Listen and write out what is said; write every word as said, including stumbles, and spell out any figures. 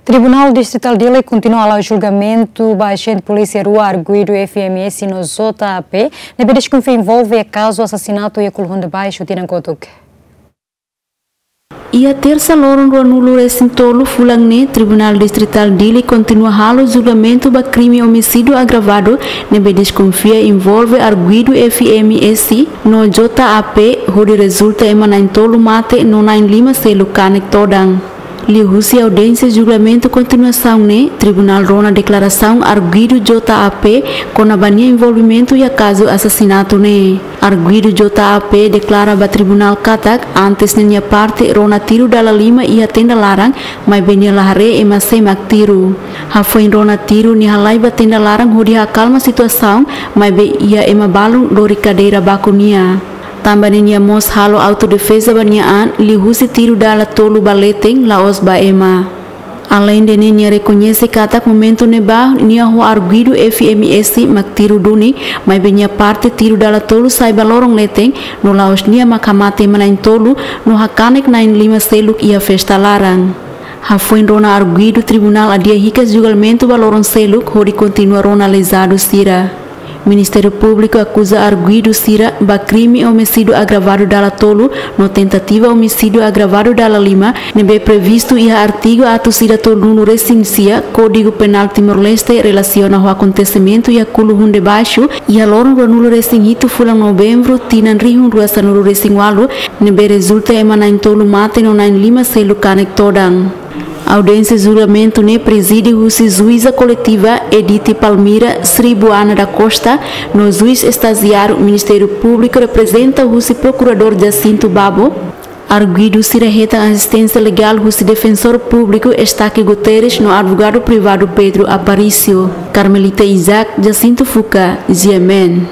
Tribunál Distritál Dili kontinua halo julgamentu ba ajente polísia rua arguidu F M S no J A P, ne'ebé deskonfia envolve kazu asasinatu iha Kuluhun de Baixo tinan kotuk. Iha Tersa loron ruanulu-resin-tolu fulan ne'e, Tribunál Distritál Dili kontinua halo julgamentu ba krime omisídiu agravadu ne'ebé deskonfia envolve arguidu F M S no J A P, hodi rezulta ema na'in-tolu mate no na'in-lima seluk kanek todan. Liuhusi audiénsia julgamentu kontinuasaun ne'e, Tribunál rona deklarasaun arguidu J A P kona-ba nia envolvimentu iha kazu asasinatu ne'e. Arguidu J A P deklara ba tribunál katak, antes ne'e nia parte rona tiru dala lima iha tenda laran, maibé nia la haree ema sé mak tiru. Hafoin rona tiru, nia halai ba tenda laran hodi akalma situasaun, maibé iha ema balun lori kadeira baku nia. Tanba ne'e nia mós halo autodefeza ba nia an, liuhusi tiru dala tolu ba leten, la'ós ba ema. Aleinde ne'e, nia rekoñese katak momentu ne'ebá nia ho arguidu F M S mak tiru duni, maibé nia parte tiru dala tolu sai ba loron leten, no la'ós nia mak hamate ema na'in-tolu, no hakanek na'in-lima seluk iha festa laran. Hafoin rona arguidu, tribunál adia hikas julgamentu ba loron seluk hodi kontinua rona lezadu sira. Ministériu Públiku akuza arguidu sira ba krime omisídiu agravadu dala tolu no tentativa omisídiu agravadu dala lima, ne'ebé previstu iha artigu atus ida tolunulu-resin-sia Kódigu Penál Timor-Leste, relasiona ho akontesimentu iha Kuluhun de Baixo, iha loron ruanulu-resin-hitu fulan Novembru tinan rihun rua sanulu-resin-ualu, ne'ebé rezulta ema na'in-tolu mate no na'in-lima seluk kanek todan. Audiénsia julgamentu ne'e prezide husi Juíza Koletiva Edith Palmira Sribuana da Costa, no Juís Estajiáriu Ministériu Públiku reprezenta husi Prokuradór Jacinto Babo. Arguidu sira hetan asisténsia legál husi Defensór Públiku Estaque Guterres no Advogadu Privadu Pedro Aparício. Carmelita Isaac, Jacinto Fuca, G M N.